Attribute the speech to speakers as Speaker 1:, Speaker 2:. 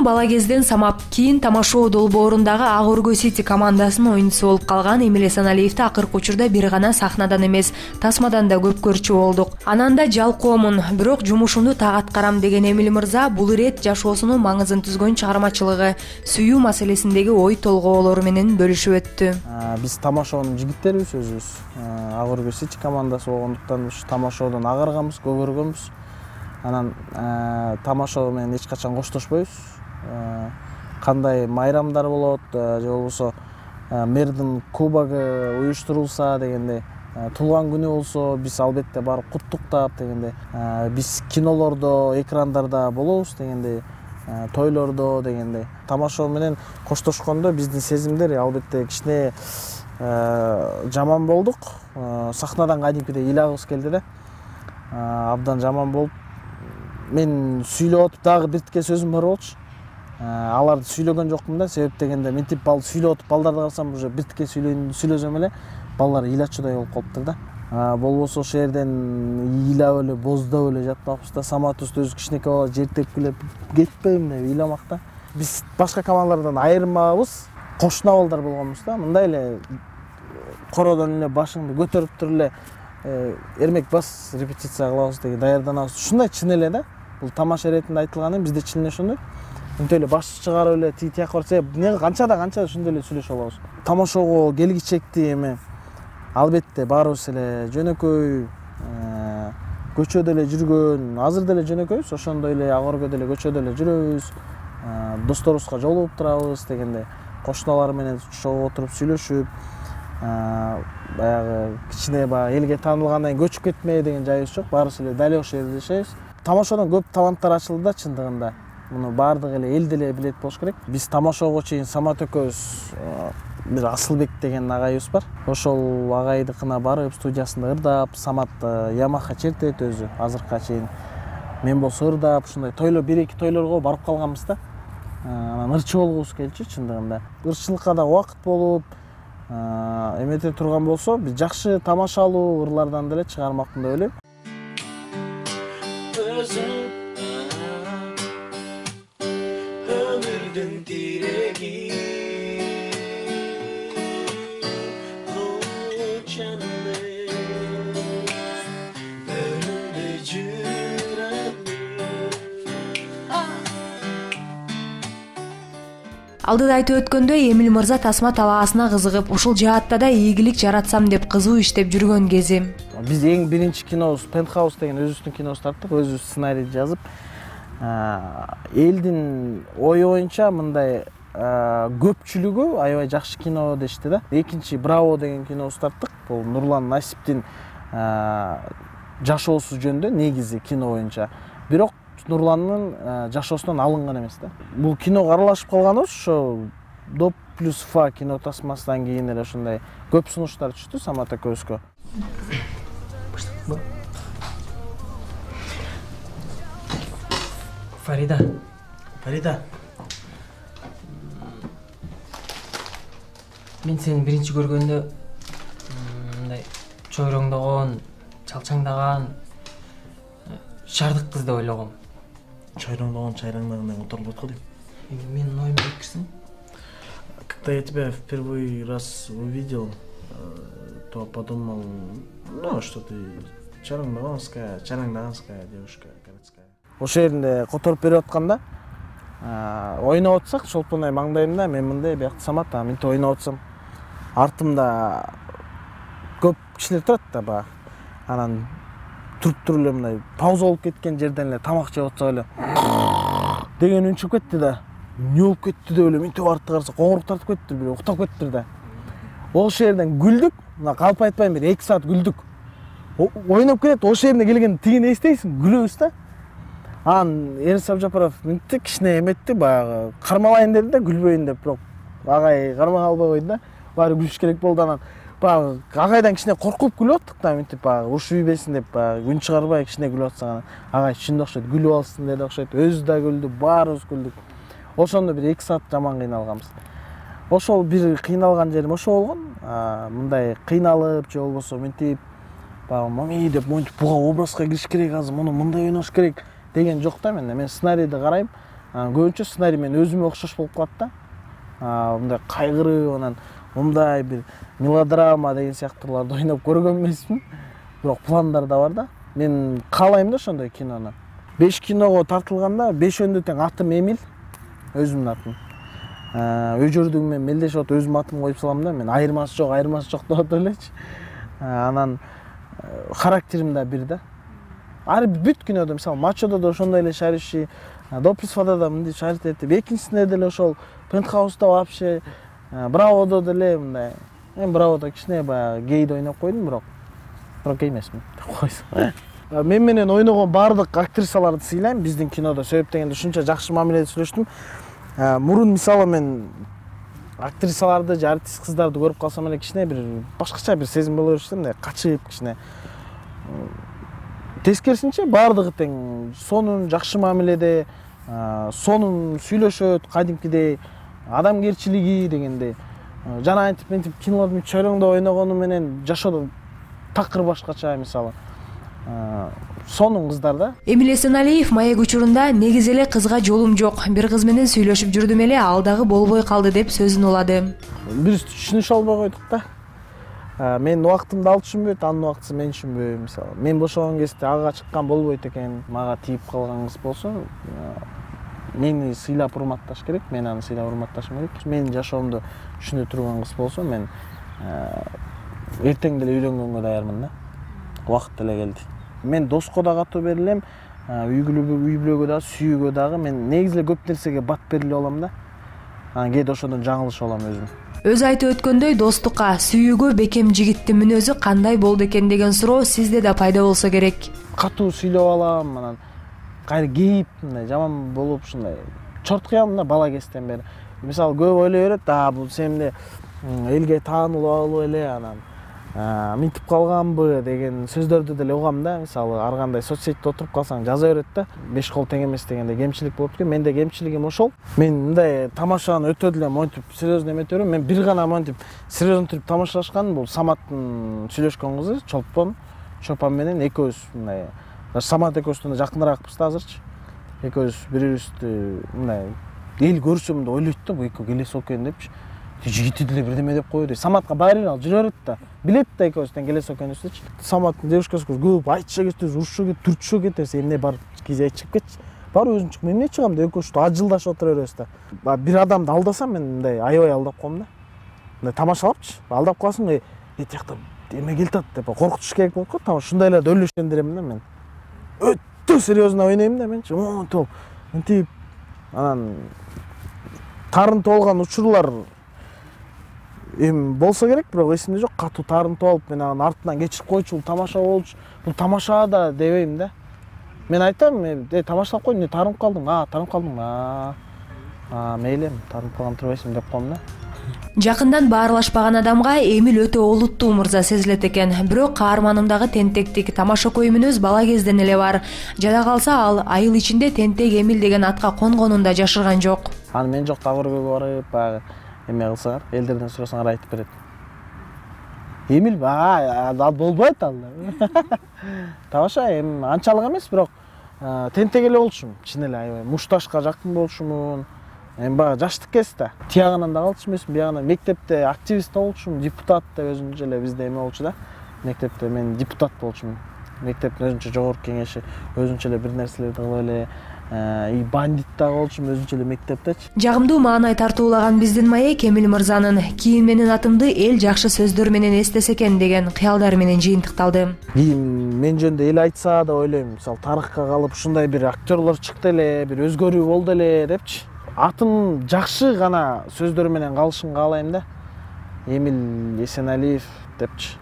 Speaker 1: бала кезден самап, кийин Тамашоо долбоорундагы Ак Өргө Сити командасынын оюнчусу болуп калган Эмиль Эсеналиевди акыркы учурда бир гана сахнадан эмес, тасмадан да көп көрчү болдук. Анан да жалкоомун, бирок жумушумду так аткарам деген Эмиль мырза бул ирет жашоосунун маңызын түзгөн чыгармачылыгы, сүйүү маселесиндеги ой толгоолору менен бөлүшүп өттү.
Speaker 2: Биз Тамашоонун жигиттерибиз өзүбүз. Ак Өргө Сити командасы болгондуктан ушу Тамашоодон агарганбыз, көгөргөнбүз. Анан Тамашоо менен эч качан коштошпойбуз. Кандай майрамдар болот же болбосо мэрдин кубогу уюштурулса дегенде, туулган күнү болсо биз албетте барып куттуктап дегенде, биз кинолордо, экрандарда болобуз дегенде, тойлордо дегенде. Тамашоо менен коштошкондо биздин сезимдер албетте кичине жаман болдук. Сахнадан кадимкидей ыйлагыбыз келди да. Абдан жаман болуп, мен сүйлөп отуп дагы биртке сөзүм бар болчу. Аларды сүйлөгөн жокмун да, себеп дегенде мынтип сүйлөп отуп балдарды карасам уже биртке сүйлөсөм эле балдар ыйлачудай болуп калыптыр да. Болбосо ошол жерден ыйлап эле, боздоп эле жатмакпыз да. Саматыбызды өзү кичинекей бала жер тепкилеп кетпейм деп ыйламак да. Биз башка командалардан айырмабыз, кошуна балдар болгонбуз да. Мындай эле кородон эле башыңды көтөрүп туруп эле эрмек бас репетиция кылабыз деген даярданабыз. Ушундай чын эле да. Бул тамаша иретинде айтылганы бизде чын эле ошондой. Мынтип эле баш чыгарып эле тияк барса, эмне канча ошондой эле сүйлөшүп алабыз. Тамашоого келгичекти эми албетте баарыбыз эле жөнөкөй, көчөдө эле жүргөн, азыр деле жөнөкөйбүз, ошондой эле Ак Өргөдө эле көчөдө эле жүрөбүз. Досторубузга жолугуп турабыз дегенде, кошуналар менен чогуу отуруп сүйлөшүп, баягы кичине элге таанылгандан кийин көчүп кетмей деген жайыбыз жок. Баарыбыз эле дал ошол жерде жашайбыз. Тамашоодон көп таланттар ачылды да чындыгында. Муну баардыгы эле эл деле билет болуш керек. Биз Тамашоого чейин Самат экөөбүз бир Асылбек деген агайыбыз бар. Ошол агайдыкына барып, студиясында ырдап, Самат Ямаха чертет өзү азыркыга чейин. Мен болсо ырдап, ушундай тойлор, бир-эки тойлорго барып калганбыз да. Анан ырчы болгубуз келчү чындыгында. Ырчылыкка да убакыт болуп, эмете турган болсо, биз жакшы тамашалуу ырлардан деле чыгармакмын деп ойлойм. Ömürdün direği o canlı önünde cürenli.
Speaker 1: Алдыда айтып өткөндөй, Эмиль мырза тасма талаасына кызыгып, ушул жаатта да ийгилик жаратсам деп кызуу иштеп жүргөн кези.
Speaker 2: Биз эң биринчи кинобуз Penthouse деген өзүбүздүн кинобузду тарттык, өзүбүз сценарийди жазып, элдин ою боюнча мындай көпчүлүгү аябай жакшы кино дешти да. Экинчи Браво деген кинобузду тарттык. Бул Нурлан Насиптин жашоосу жөнүндө негизи кино боюнча. Бирок Нурландын жашоосунан алынган эмес да. Бул киного аралашып калганыбыз ошо Доп плюс Фа кино тасмасынан кийин эле ошондой көп сунуштар түштү Самат экөөбүзгө.
Speaker 3: Фарида. Мен сени биринчи көргөндө мындай чойроңдогон, чалчаңдаган шаардык кыз деп ойлогом.
Speaker 4: Чойроңдогон, чайраңдагандай отурулуп атко дейм.
Speaker 3: Менин оюмду жеткирсең?
Speaker 4: Когда я тебя в первый раз увидел, то подумал, что ты чайраңдаганская девушка городская.
Speaker 2: Ошол жеринде которуп берип атканда ойноп атсак, шолпунай маңдайымда мен мындай биякта Самат, мынтип ойноп атсам, артымда көп кишилер турат да, анан туруп эле мындай пауза болуп кеткен жерден эле тамак жеп атса эле деген үн чыгып кетти да. Эмне болуп кетти деп эле мынтип артты караса, коңурук тартып кетти, бир уктап кеттир да. Ошол жерден күлдүк, мына калп айтпайм, бир 2 саат күлдүк. Ойноп кетет, ошол жерине келгенде тигини эстейсиң, күлөбүз да. Анан Эрис Абжапаров мынтип кичине эметти, баягы кармалайын деди да, күлбөйүн деп, бирок агай кармай албай койду да. Баары күлүш керек болду. Анан баягы агайдан кичине коркуп күлүп аттык да, мынтип баягы урушуп ийбесин деп, баягы үн чыгарбай кичине күлүп атсак, агай чын окшойт, күлүп алсын деди окшойт. Өзү да күлдү, баарыбыз күлдүк. Ошондо бир 2 саат жаман кыйналганбыз. Ошол бир кыйналган жерим ошол болгон. Мындай кыйналып же болбосо мынтип баягы мами деп монтип буга образга кириш керек, азыр муну мындай ойнош керек деген жок да менде. Мен сценарийди карайм, көбүнчө сценарий мен өзүмө окшош болуп калат да. Мындай кайгырып, анан мындай бир мелодрама деген сыяктууларды ойноп көргөн эмесмин. Бирок пландар да бар да. Мен каалайм да ошондой кинону. 5 киного тартылганда 5-өндө тең атым Эмил, өзүмдүн атым. Өжөрдүгү менен мелдешип атып өзүмдүн атымды коюп салам да. Мен айырмасы жок деп атып элечи. Анан характерим да бир да. Ар бүт кинодо, мисалы, Мачодо да ошондой эле шариши, Допусфада да мындай шарит этип, экинчисинде деле ошол Пентхауста вообще, Браводо деле мындай. Мен Браводо кичине баягы гейди ойноп койдум, бирок гей эмесмин деп койсо. Мен менен ойногон баардык актрисаларды сыйлайм биздин кинодо. Себеп дегенде ушунча жакшы мамиледе сүйлөштүм. Мурун мисалы мен актрисаларды же артист кыздарды көрүп калсам эле кичине бир башкача бир сезим боло берчү, мындай качып кичине. Тескерисинче баардыгы тең сонун жакшы мамиледе, сонун сүйлөшөт, кадимкидей адамгерчилиги дегенде. Жана антип кинолордун чөйрөңдө ойногону менен жашоодо такыр башкача, мисалы. Сонун кыздар да.
Speaker 1: Эмил Эсеналиев маек учурунда негизи эле кызга жолум жок, бир кыз менен сүйлөшүп жүрдүм эле, ал дагы болбой калды деп сөзүн улады.
Speaker 2: Биз түшүнүшө албай койдук да. Мен убактымды ал түшүнбөйт, анын убактысы мен түшүнбөйм, мисалы. Мен бошогон кезде ага чыккан болбойт экен, мага тийип калган кыз болсо, мени сыйлап урматташ керек, мен аны сыйлап урматташым керек. Менин жашоомду түшүнө турган кыз болсо, мен эртең деле үйлөнгөнгө даярмын да. Убакыт деле келди. Мен доско да катуу берилем, үй бүлөгө да, сүйүүгө дагы мен негизи эле көп нерсеге бат берилип алам да. Кээде ошондон жаңылышып алам өзүм.
Speaker 1: Өзү айтып өткөндөй, достукка, сүйүүгө бекем жигиттин мүнөзү кандай болду экен деген суроо сизде да пайда болсо керек.
Speaker 2: Катуу сүйлөп алам, анан кайра кейип, мындай жаман болуп, ушундай чорткуям да бала кезден бери. Мисалы, көп ойлой берет, бул сен элге таанылып алып эле, анан мынтип калганбы деген сөздөрдү деле угам да. Мисалы, ар кандай соц сетьте отуруп калсаң жаза берет да. 5 кол тең эмес дегенде кемчилик болуп экен. Менде кемчилигим ошол. Мен мындай тамашаны өтө деле монтип серьезно эмете берем. Мен бир гана монтип серьезно туруп тамашалашканым бул Саматтын сүйлөшкөн кызы, Чолпон менен экөөбүз мындай. Самат экөөбүз жакыныраакпыз да азырчы. Экөөбүз бири-бирибизди мындай эл көрсөм да ойлойт да, бул экөө келесип экен депчи. Жигити деле бирдеме деп койду. Саматка баары ал жүрө берет да. Билет да экөөбүз тең келесип экенибизди. Саматтын девушкасы көп айтыша кетти, урушуп кетти, түртүшө кетти. Эмне бар кизе чыгып кетчи. Бар өзүм чыгып, эмне чыгам деп экөөбүз ажылдашып отура беребиз да. Бир адамды алдасам мен мындай аябай алдап коем да. Мындай тамашалапчы. Алдап калсаң, тиякта эме келтат деп коркутуш керек болот го. Там ушундайларды өлүшөндүрөм да мен. Өтө серьезно ойнойм да менчи. Монтип, мынтип анан тарынтып алган учурлар болсо керек, бирок эсимде жок. Катуу тарынтып алып, мен анын артынан кечирип койчу, бул тамаша болчу. Бул тамаша да дебейм да. Мен айтам, тамашалап кой, эмне тарынып калдың? Тарынып калдым. Мейли, тарынып калган турбайсың деп коем да.
Speaker 1: Жакындан баарлашпаган адамга Эмил өтө олуттуу мырза сезилет экен. Бирок каарманымдагы тентектик, тамашакөй мүнөз бала кезден эле бар. Жада калса ал айыл ичинде Тентек Эмил деген атка конгонун да жашырган жок.
Speaker 2: Аны мен жок Тагыркөйгө барып, баягы эме кылсаңар, элдерден сурасаңар айтып берет. Эмил ал болбойт ал. Тамаша анчалык эмес, бирок тентек эле болчумун, чын эле аябай. Мушташка жакын болчумун. Баягы жаштык кезде тиягынан да калчу эмесмин, биягынан мектепте активист болчумун, депутат деп өзүнчө эле бизде эме болчу да. Мектепте мен депутат болчумун. Мектептин өзүнчө жогорку кеңеши, өзүнчө эле бир нерселерди кылып эле, бандит да болчумун өзүнчө эле мектептечи.
Speaker 1: Жагымдуу маанай тартуулаган биздин маек Эмил мырзанын кийин менин атымды эл жакшы сөздөр менен эстесе экен деген кыялдар менен жыйынтыкталды.
Speaker 2: Кийин мен жөнүндө эл айтса да ойлойм, мисалы тарыхка калып ушундай бир актерлор чыкты эле, бир өзгөрүү болду эле депчи. Атым жакшы гана сөздөр менен калышын каалайм да. Эмил Эсеналиев депчи.